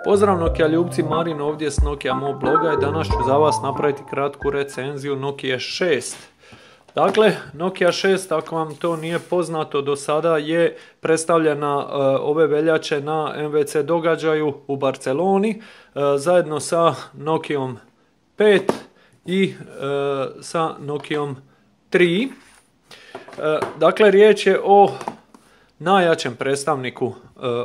Pozdrav Nokia ljubci, Marin ovdje s Nokia Mo bloga i danas ću za vas napraviti kratku recenziju Nokia 6. Dakle, Nokia 6, ako vam to nije poznato, do sada je predstavljena ove veljače na MWC događaju u Barceloni zajedno sa Nokiom 5 i sa Nokiom 3. Dakle, riječ je o najjačem predstavniku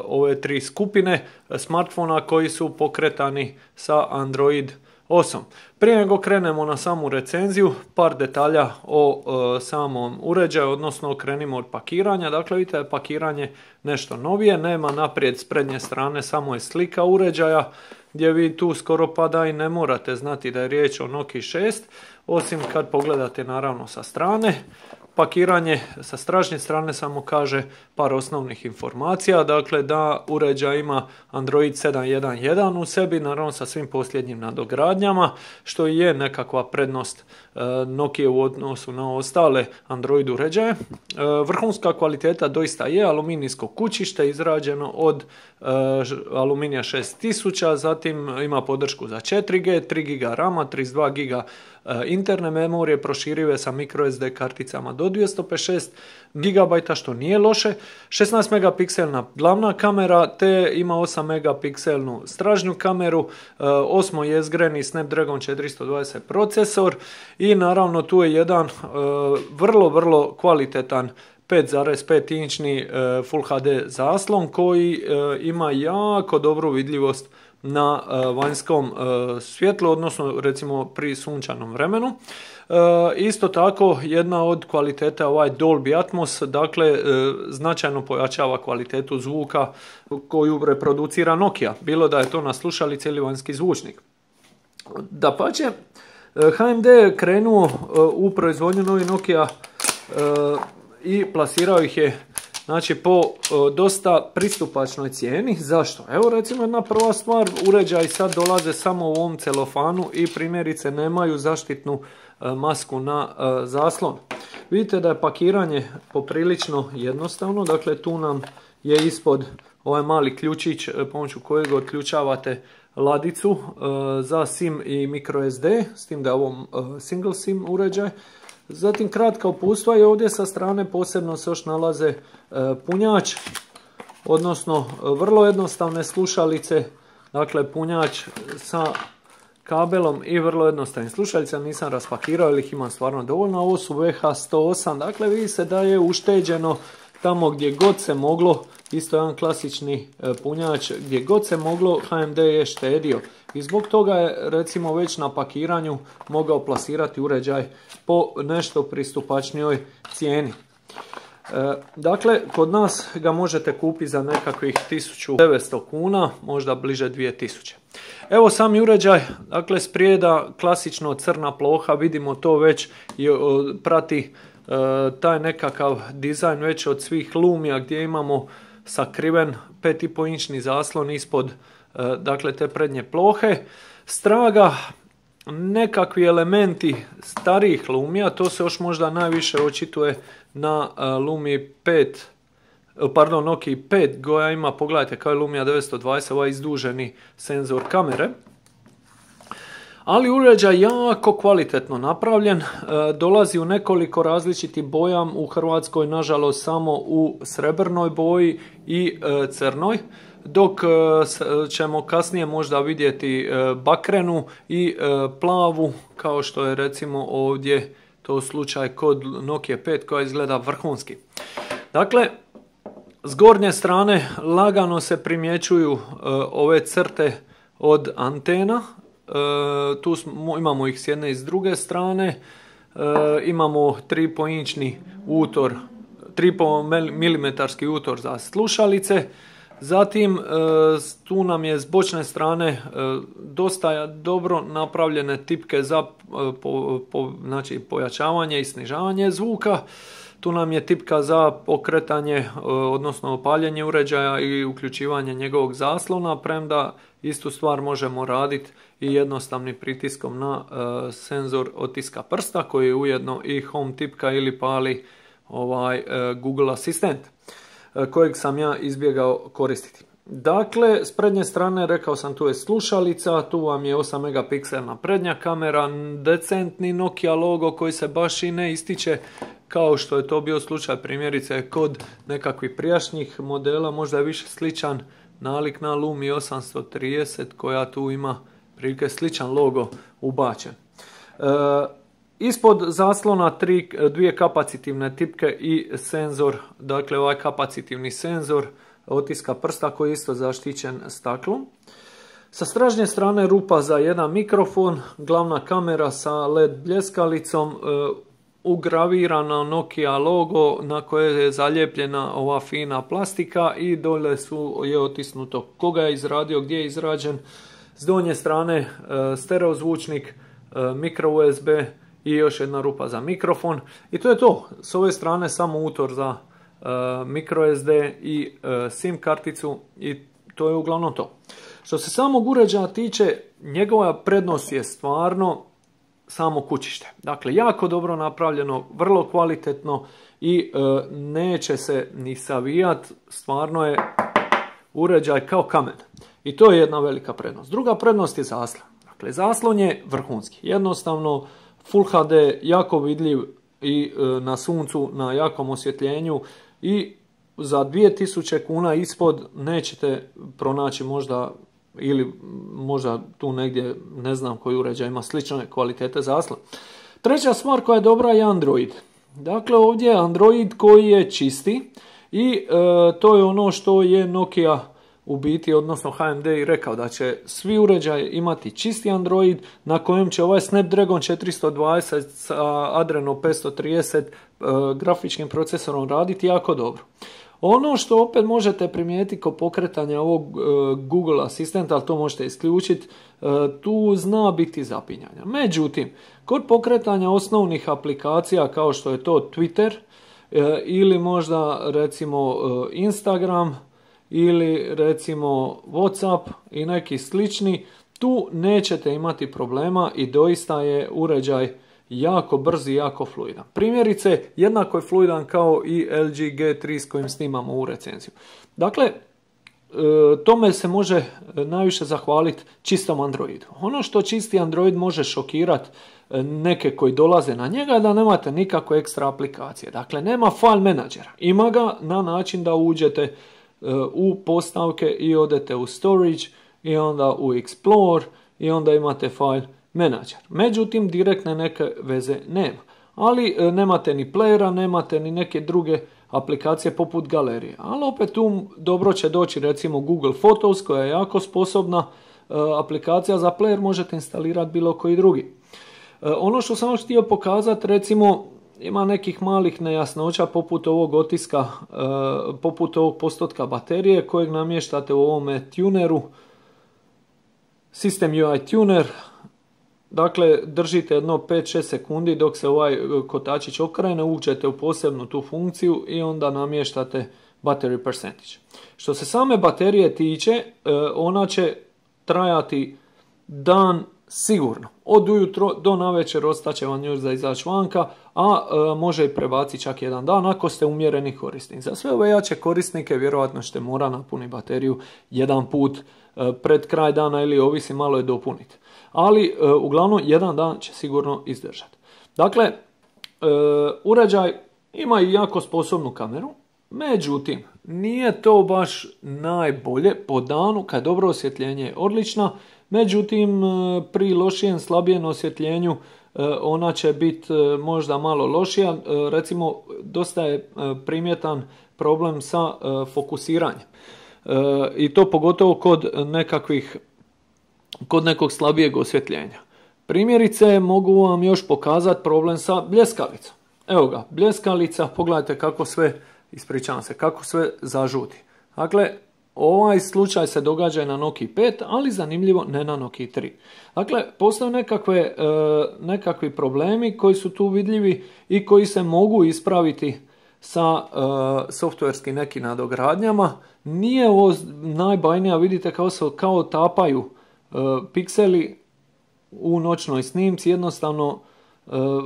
ove tri skupine smartfona koji su pokretani sa Android 8. Prije nego krenemo na samu recenziju, par detalja o samom uređaju, odnosno krenimo od pakiranja. Dakle, vidite je pakiranje nešto novije, nema naprijed s prednje strane, samo je slika uređaja, gdje vi tu skoro pa da i ne morate znati da je riječ o Nokia 6, osim kad pogledate naravno sa strane. Pakiranje sa stražnje strane samo kaže par osnovnih informacija, dakle da uređaj ima Android 7.1.1 u sebi, naravno sa svim posljednjim nadogradnjama, što je nekakva prednost Nokia u odnosu na ostale Android uređaje. Vrhunska kvaliteta doista je aluminijsko kućište izrađeno od aluminija 6000, zatim ima podršku za 4G, 3 GB RAM-a, 32 GB interne memorije, proširive sa microSD karticama do 256 GB, što nije loše, 16 megapikselna glavna kamera, te ima 8 megapikselnu stražnju kameru, 8 jezgreni Snapdragon 420 procesor i naravno tu je jedan vrlo kvalitetan 5,5 inčni Full HD zaslon koji ima jako dobru vidljivost na vanjskom svjetlu, odnosno recimo pri sunčanom vremenu. Isto tako jedna od kvaliteta ovaj Dolby Atmos, dakle značajno pojačava kvalitetu zvuka koju reproducira Nokia, bilo da je to na slušalici ili vanjski zvučnik. Dapače, HMD je krenuo u proizvodnju novih Nokia i plasirao ih je znači po dosta pristupačnoj cijeni. Zašto? Evo recimo jedna prva stvar, uređaji sad dolaze samo u ovom celofanu i primjerice nemaju zaštitnu masku na zaslon. Vidite da je pakiranje poprilično jednostavno, dakle tu nam je ispod ovaj mali ključić pomoću kojeg otključavate ladicu za SIM i microSD, s tim da je ovo single SIM uređaj. Zatim kratka uputstva i ovdje sa strane posebno se još nalaze punjač, odnosno vrlo jednostavne slušalice, dakle punjač sa kabelom i vrlo jednostavnim slušalice, nisam raspakirao jer ih imam stvarno dovoljno. Ovo su VH108, dakle vidi se da je ušteđeno tamo gdje god se moglo, isto jedan klasični punjač, gdje god se moglo HMD je štedio i zbog toga je recimo već na pakiranju mogao plasirati uređaj po nešto pristupačnijoj cijeni. Dakle, kod nas ga možete kupiti za nekakvih 1900 kuna, možda bliže 2000. Evo sami uređaj, dakle sprijeda klasično crna ploha, vidimo to već i prati taj nekakav dizajn već od svih Lumia gdje imamo sakriven 5,5 inčni zaslon ispod dakle te prednje plohe. Straga nekakvi elementi starijih Lumia, to se još možda najviše očituje na Nokia 5 koja ima, pogledajte kao je Lumia 920, ovaj izduženi senzor kamere. Ali uređaj jako kvalitetno napravljen, dolazi u nekoliko različitih boja, u Hrvatskoj nažalost samo u srebrnoj boji i crnoj, dok ćemo kasnije možda vidjeti bakrenu i plavu, kao što je recimo ovdje to slučaj kod Nokia 5 koja izgleda vrhunski. Dakle, s gornje strane lagano se primjećuju ove crte od antena. Tu imamo ih s jedne i s druge strane, imamo 3,5 inčni utor, 3,5 mm utor za slušalice, zatim tu nam je s bočne strane dosta dobro napravljene tipke za znači pojačavanje i snižavanje zvuka. Tu nam je tipka za pokretanje, odnosno paljenje uređaja i uključivanje njegovog zaslona, premda istu stvar možemo raditi i jednostavnim pritiskom na senzor otiska prsta koji je ujedno i home tipka ili pali Google asistent kojeg sam ja izbjegao koristiti. Dakle, s prednje strane, rekao sam, tu je slušalica, tu vam je 8 megapikselna prednja kamera, decentni Nokia logo koji se baš i ne ističe kao što je to bio slučaj primjerice kod nekakvih prijašnjih modela, možda je više sličan nalik na Lumia 830 koja tu ima prilike sličan logo ubačen. Ispod zaslona dvije kapacitivne tipke i senzor, dakle ovaj kapacitivni senzor otiska prsta koji je isto zaštićen staklom. Sa stražnje strane rupa za jedan mikrofon, glavna kamera sa LED bljeskalicom, ugravirana Nokia logo na koje je zalijepljena ova fina plastika i dole je otisnuto koga je izradio, gdje je izrađen. S donje strane stereo zvučnik, micro USB i još jedna rupa za mikrofon. I to je to. S ove strane samo utor za micro SD i SIM karticu i to je uglavnom to. Što se samog uređaja tiče, njegova prednost je stvarno samo kućište. Dakle, jako dobro napravljeno, vrlo kvalitetno i neće se ni savijat, stvarno je uređaj kao kamen. I to je jedna velika prednost. Druga prednost je zaslon. Dakle, zaslon je vrhunski. Jednostavno, Full HD, jako vidljiv i na suncu, na jakom osvjetljenju i za 2000 kuna ispod nećete pronaći možda ili možda tu negdje ne znam koji uređaj ima slične kvalitete zaslon. Treća stvar koja je dobra je Android. Dakle, ovdje je Android koji je čisti i to je ono što je Nokia u biti, odnosno HMD i rekao da će svi uređaji imati čisti Android na kojem će ovaj Snapdragon 420 sa Adreno 530 grafičkim procesorom raditi jako dobro. Ono što opet možete primijetiti kod pokretanja ovog Google asistenta, ali to možete isključiti, tu zna biti zapinjanja. Međutim, kod pokretanja osnovnih aplikacija kao što je to Twitter ili možda recimo Instagram ili recimo WhatsApp i neki slični, tu nećete imati problema i doista je uređaj jako brz i jako fluidan. Primjerice, jednako je fluidan kao i LG G3 s kojim snimamo u recenziju. Dakle, tome se može najviše zahvaliti čistom Androidu. Ono što čisti Android može šokirati neke koji dolaze na njega je da nemate nikakve ekstra aplikacije. Dakle, nema file menadžera. Ima ga na način da uđete u postavke i odete u storage i onda u explore i onda imate file menadžer. Međutim, direktne neke veze nema. Ali nemate ni playera, nemate ni neke druge aplikacije poput galerije. Ali opet tu dobro će doći recimo Google Photos koja je jako sposobna aplikacija za player, možete instalirati bilo koji drugi. Ono što sam još htio pokazati, recimo ima nekih malih nejasnoća poput ovog otiska, poput ovog postotka baterije kojeg namještate u ovome tuneru, System UI Tuner. Dakle, držite jedno 5-6 sekundi dok se ovaj kotačić okrene, uđete u posebnu tu funkciju i onda namještate battery percentage. Što se same baterije tiče, ona će trajati dan sigurno. Od ujutro do navečer ostaće vam još za izaći vanka, a može i prebaciti čak jedan dan ako ste umjereni korisnik. Za sve ove jače korisnike vjerojatno ćete mora napuniti bateriju jedan put pred kraj dana ili ovisi malo je dopuniti. Ali uglavnom jedan dan će sigurno izdržati. Dakle, uređaj ima i jako sposobnu kameru, međutim, nije to baš najbolje po danu kad dobro osvjetljenje je odlična, međutim, pri lošijem, slabijem osvjetljenju ona će biti možda malo lošija. Recimo, dosta je primjetan problem sa fokusiranjem. I to pogotovo kod nekog slabijeg osvjetljenja. Primjerice, mogu vam još pokazati problem sa bljeskalicom. Evo ga, bljeskalica, pogledajte kako sve, ispričavam se, kako sve zažuti. Dakle, ovaj slučaj se događa i na Nokia 5, ali zanimljivo ne na Nokia 3. Dakle, postoje nekakvi problemi koji su tu vidljivi i koji se mogu ispraviti sa softverskim nekim nadogradnjama. Nije ovo najbajnija, vidite kao tapaju pikseli u noćnoj snimci, jednostavno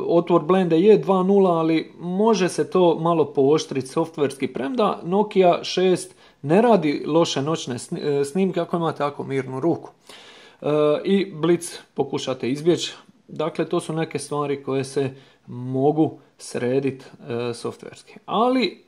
Otvor blende je 2.0, ali može se to malo pooštriti softverski, premda Nokia 6 ne radi loše noćne snimke ako imate tako mirnu ruku. I blic pokušate izbjeći. Dakle, to su neke stvari koje se mogu srediti softverski. Ali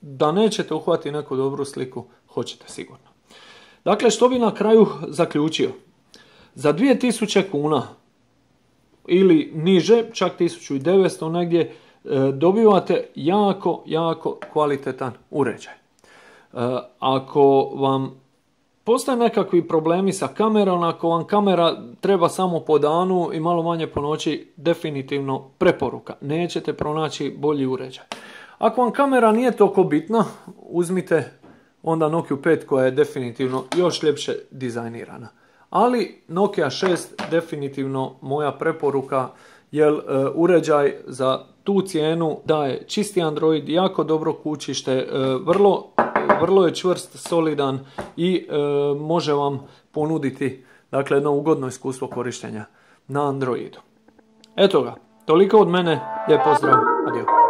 da nećete uhvatiti neku dobru sliku, hoćete sigurno. Dakle, što bi na kraju zaključio? Za 2000 kuna ili niže, čak 1900 negdje, dobivate jako kvalitetan uređaj. Ako vam postoje nekakvi problemi sa kamerom, ako vam kamera treba samo po danu i malo manje po noći, definitivno preporuka. Nećete pronaći bolji uređaj. Ako vam kamera nije toliko bitna, uzmite onda Nokia 5 koja je definitivno još ljepše dizajnirana. Ali Nokia 6 definitivno moja preporuka, jer uređaj za tu cijenu daje čisti Android, jako dobro kućište, vrlo je čvrst, solidan i može vam ponuditi, dakle, jedno ugodno iskustvo korištenja na Androidu. Eto ga, toliko od mene, lijep pozdrav, adio.